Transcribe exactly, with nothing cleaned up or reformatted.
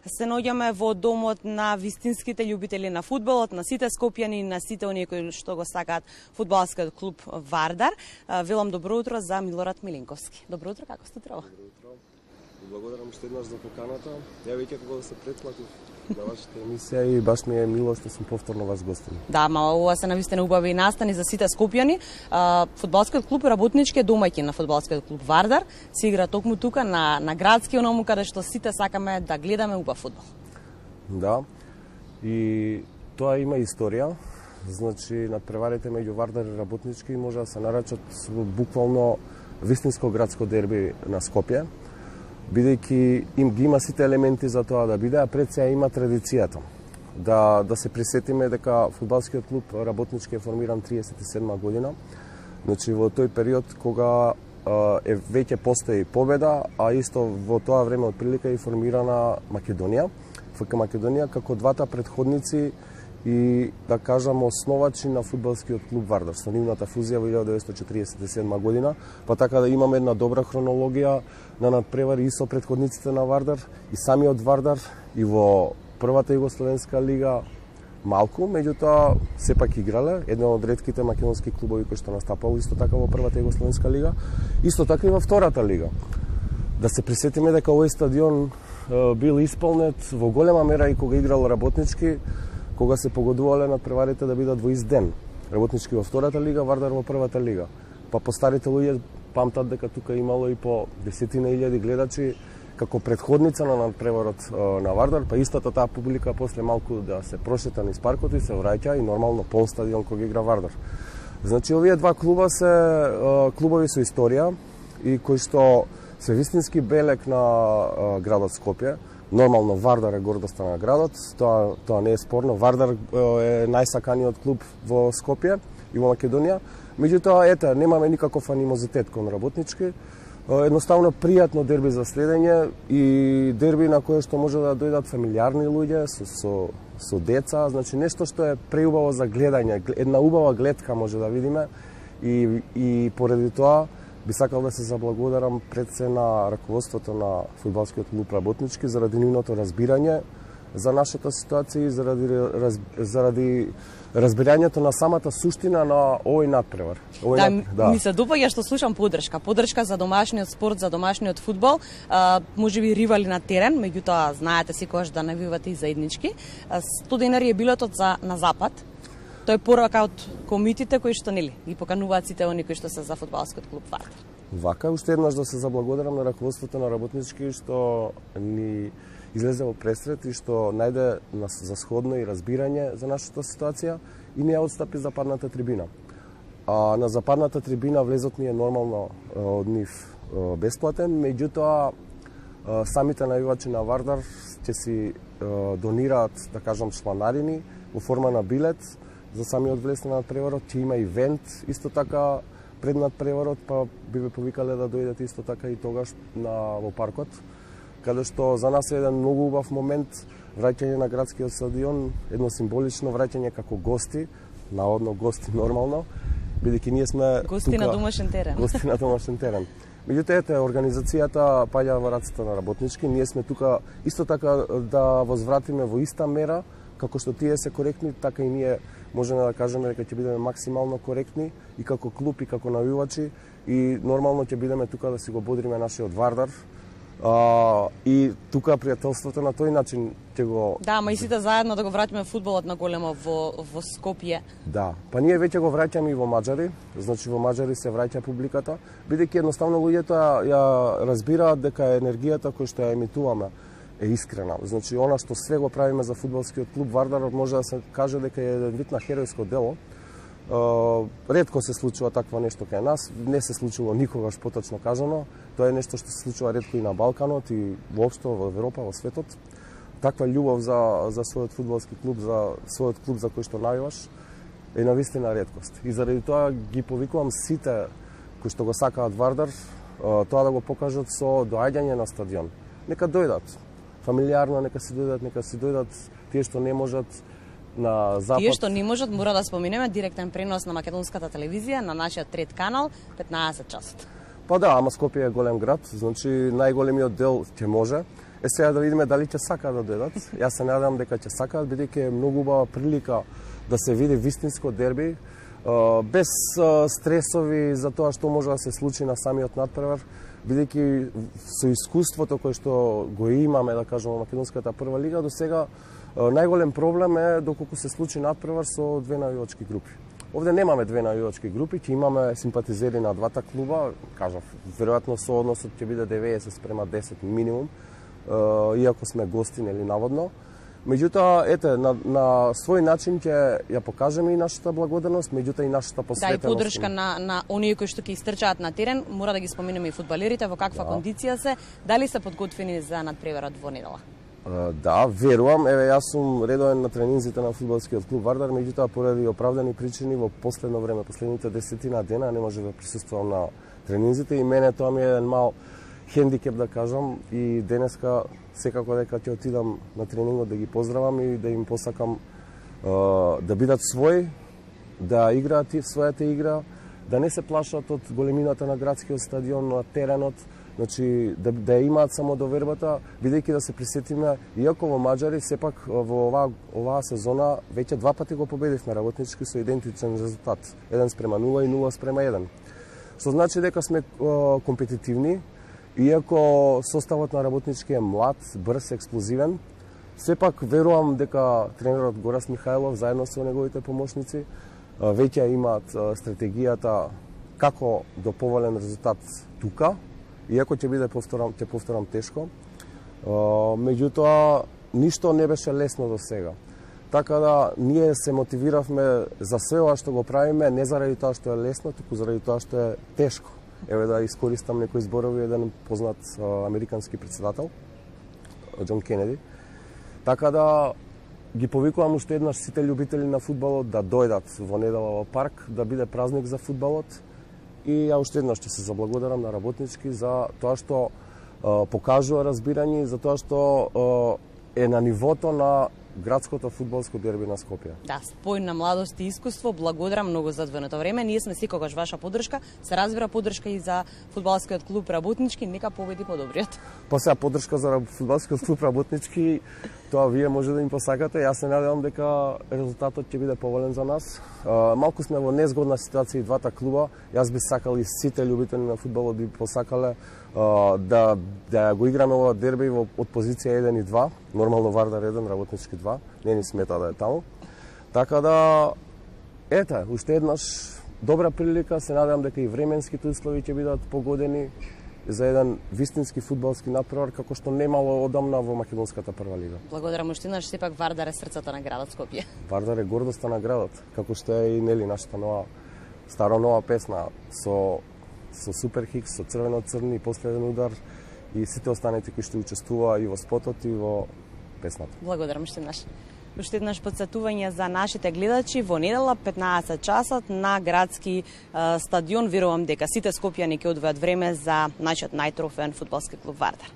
Се наоѓаме во домот на вистинските љубители на фудбалот, на сите скопјани, на сите оние кои што го сакаат фудбалскиот клуб Вардар. Велам добро утро за Милорад Милинковски. Добро утро, како сте утро? Добро утро. Благодарам уште еднаш за поканата. Ја веќе кога се претплатив на вашата емисија и баш ми е мило што сум повторно ваш гостин. Да, ма ова се навистина убави настани за сите скопјани. Фудбалскиот клуб работнички е домаќин на фудбалскиот клуб Вардар. Се игра токму тука на на градски оному каде што сите сакаме да гледаме убав фудбал. Да. И тоа има историја. Значи надпреварите меѓу Вардар и работнички може да се наречат буквално вистинско градско дерби на Скопје, бидејќи им ги има сите елементи за тоа да биде, а пред се има традицијата. Да, да се присетиме дека фудбалскиот клуб работнички е формиран триесет и седма година. Значи во тој период кога е веќе постои победа, а исто во тоа време од прилика е формирана Македонија, ФК Македонија како двата претходници и да кажам основачи на фудбалскиот клуб Вардар со нивната фузија во илјадесетстотини четиридесет и седма година, па така да имаме една добра хронологија на надпревари и со претходниците на Вардар и самиот Вардар и во првата југословенска лига малку, меѓутоа сепак играле, еден од ретките македонски клубови кои што настапало исто така во првата југословенска лига, исто така и во втората лига. Да се присетиме дека овој стадион бил исполнет во голема мера и кога играл работнички, кога се погодувале надпреварите да бидат во ист ден. Работнички во втората лига, Вардар во првата лига. Па постарите луѓе памтат дека тука имало и по десетина илјади гледачи како претходница на надпреварот на Вардар, па истата таа публика после малку да се прошета низ паркот и се враќа и нормално пол стадион кога игра Вардар. Значи овие два клуба се клубови со историја и кои што се вистински белек на градот Скопје. Нормално Вардар е гордоста на градот, тоа тоа не е спорно. Вардар е најсаканиот клуб во Скопје и во Македонија. Меѓутоа, ете, немаме никаков анимозитет кон работнички. Едноставно пријатно дерби за следење и дерби на кое што може да дојдат фамилиарни луѓе со со со деца, значи нешто што е преубаво за гледање, една убава гледка може да видиме и и поради тоа би сакал да се заблагодарам пред се на раководството на фудбалскиот клуб работнички заради нивното разбирање за нашата ситуација и заради раз, заради разбирањето на самата суштина на овој надпревар. Овој да, над... да, ми се допаѓа што слушам поддршка, поддршка за домашниот спорт, за домашниот фудбал, а, можеби ривали на терен, меѓутоа знаете секогаш да навивате и заеднички. сто денари е билетот за на запад. Тој е порака од комитите кои што нели ги покануваат сите оние кои што се за фудбалскиот клуб Вардар. Вака уште еднаш да се заблагодарам на раководството на работнички што ни излезе во пресрет и што најде нас за сходно и разбирање за нашата ситуација и не ја отстапи западната трибина. А на западната трибина влезот ни е нормално од нив бесплатен, меѓутоа самите навивачи на Вардар ќе си донираат, да кажам, чланарини во форма на билет за самиот влез на надпреварот, ќе има ивент, исто така пред надпреварот, па би ве повикале да дојдете исто така и тогаш на во паркот, каде што за нас е еден многу убав момент, враќање на градскиот стадион, едно символично враќање како гости, наодно гости нормално, бидејќи ние сме гости тука, на домашен терен. Гости на домашен терен. Меѓутоа, ете, организацијата паѓа во рацете на работнички, ние сме тука исто така да возвратиме во иста мера, како што тие се коректни, така и ние можеме да кажеме дека ќе бидеме максимално коректни и како клуб и како навивачи и нормално ќе бидеме тука да си го бодриме нашиот Вардар. А, и тука пријателството на тој начин ќе го... Да, ма и сите заедно да го враќаме фудбалот на големо во, во Скопје. Да, па ние веќе го враќаме и во Маđари, значи во Маđари се враќа публиката, бидејќи едноставно луѓето ја, ја разбираат дека енергијата која што ја емитуваме е искрена. Значи, она што све го правиме за фудбалскиот клуб Вардар, може да се каже дека е еден вид на херојско дело. Uh, ретко се случува такво нешто кај нас, не се случило никогаш поточно кажано. Тоа е нешто што се случува ретко и на Балканот и воопшто во Европа, во светот. Таква љубов за за својот фудбалски клуб, за својот клуб за кој што навиваш е навистина реткост. И заради тоа ги повикувам сите кои што го сакаат Вардар, uh, тоа да го покажат со доаѓање на стадион. Нека дојдат. Фамилиарно нека си дојдат, нека си дојдат тие што не можат на запад. Тие што не можат, мора да споменеме директен пренос на македонската телевизија на нашиот трет канал, петнаесет часот. Па да, ама Скопје е голем град, значи најголемиот дел ќе може. Е сега да видиме дали ќе сакаат да дојдат. Јас се надевам дека ќе сакаат, бидејќи е многу убава прилика да се види вистинско дерби, без стресови за тоа што може да се случи на самиот надпревар, бидејќи со искуството кое што го имаме, да кажеме, во македонската прва лига, до сега најголем проблем е доколку се случи надпревар со две навивачки групи. Овде немаме две навивачки групи, ќе имаме симпатизери на двата клуба, кажав, веројатно соодносот ќе биде деветдесет спрема десет минимум, иако сме гости, нели, наводно. Меѓутоа, ете, на, на свој начин ќе ја покажеме и нашата благодарност, меѓутоа и нашата посветеност. Да, и поддршка на, на оние кои што ќе истрчаат на терен, мора да ги споменеме и фудбалерите, во каква да. кондиција се, дали се подготвени за надпреварот во недела? Да, верувам. Еве, јас сум редовен на тренинзите на фудбалскиот клуб Вардар, меѓутоа поради оправдани причини во последно време, последните десетина дена не може да присуствувам на тренинзите и мене тоа ми е еден мал хендикеп, да кажам, и денеска секако дека ќе отидам на тренингот да ги поздравам и да им посакам да бидат своји, да играат својата игра, да не се плашат од големината на градскиот стадион, на теренот, значи да, да имаат само довербата, бидејќи да се присетиме, иако во Маđари сепак во оваа, оваа сезона веќе два пати го победивме Работнички со идентичен резултат, еден спрема нула и нула спрема еден. Што значи дека сме компетитивни, иако составот на Работнички е млад, брз, експлозивен, сепак верувам дека тренерот Горас Михајлов заедно со неговите помошници веќе имаат стратегијата како до поволен резултат тука, иако ќе биде, повторам, ќе повторам, тешко. Меѓутоа, ништо не беше лесно до сега. Така да, ние се мотивиравме за све ова што го правиме, не заради тоа што е лесно, туку заради тоа што е тешко. Еве да искористам некои зборови, еден познат американски председател, Џон Кенеди. Така да, ги повикувам уште еднаш сите љубители на фудбалот да дојдат во недела во парк, да биде празник за фудбалот. И ја уште еднаш ќе се заблагодарам на Работнички за тоа што е, покажува разбирање, за тоа што е, е на нивото на градското фудбалско дерби на Скопје. Да, спој на младост и искуство, благодарам многу за одвоеното време. Ние сме секогаш ваша поддршка, се разбира поддршка и за фудбалскиот клуб Работнички, нека победи подобриот. Па сега поддршка за фудбалскиот клуб Работнички, тоа вие може да им посакате. Јас се надевам дека резултатот ќе биде поволен за нас. Малку сме во незгодна ситуација и двата клуба. Јас би сакал и сите љубители на фудбалот би посакале да да го играме ова дерби во од позиција еден и два, нормално Вардар еден, Работнички два, не ни смета да е таму. Така да, ете, уште еднаш добра прилика, се надевам дека и временските услови ќе бидат погодени за еден вистински фудбалски надпревар како што немало одамна во македонската прва лига. Благодарам уште еднаш, сепак Вардар е срцето на градот Скопје. Вардар е гордоста на градот, како што е и нели нашата нова старо нова песна со со Супер Хикс, со црвено-црни, последен удар и сите останати кои што учествуваа и во спотот и во песната. Благодарам уште еднаш. Уште еднаш подсетување за нашите гледачи во недела петнаесет часот на градски е, стадион. Верувам дека сите скопјани ќе одвојат време за нашиот најтрофеен фудбалски клуб Вардар.